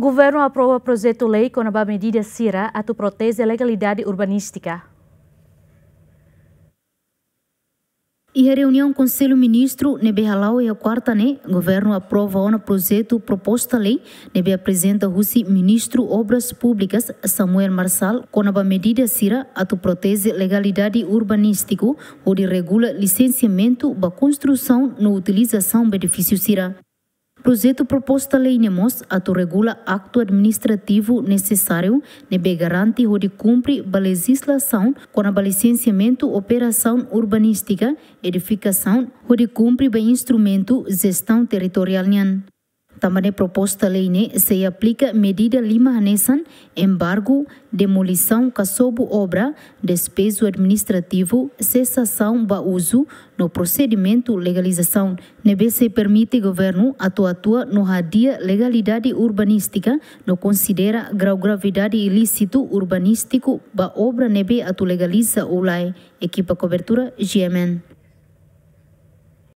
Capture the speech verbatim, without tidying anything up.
Governu aprova projetu lei kona-ba medida sira atu proteje legalidade urbanístika. Iha reuniaun Konsellu Ministru ne'ebé hala'o iha kuarta ne'e, governu aprova ona projetu proposta lei ne'ebé aprezenta husi Ministru Obras Públikas, Samuel Marçal, kona-ba medida sira atu proteje legalidade urbanístiku, hodi regula lisensiamentu ba konstrusaun no utilizasaun ba edifísiu sira. Projetu proposta lei ne'e mós atu regula aktu administrativu nesesáriu ne'ebé garante hodi kumpre ba lejizlasaun kona-ba lisensiamentu operasaun urbanístika, edifikasaun, hodi kumpre ba instrumentu jestaun territoriál nian. Tanba ne'e proposta lei ne'e sei aplika medida lima hanesan embargu, demolisaun ka sobu obra, despeju administrativu, sesasaun ba uzu, no prosedimentu legalizasaun, ne'ebé sei permite governu atu atua no hadi'a legalidade urbanístika no konsidera grau gravidade ilísitu urbanístiku ba obra ne'ebé atu legaliza ou lae. Ekipa kobertura, G M N.